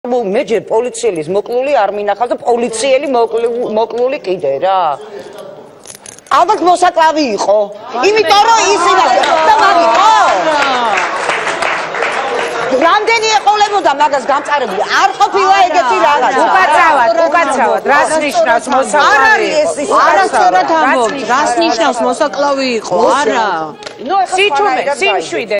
მე ჯერ პოლიციელის მოკლული არ მინახავს და პოლიციელი მოკლული კიდე რა. ალბათ მოსაკლავი იყო. იმიტომ რომ ისინი და მაგიყო. რამდენი ეყოლებოდა მაგას გამწარებული? არ ყოფილა ეგეთი რაღაც. უკაცრავად. რას ნიშნავს მოსაკლავი? არ არის ეს ის. არასწორად ამბობთ. რას ნიშნავს მოსაკლავი იყო? არა. ნუ ეხლა სიმშვიდე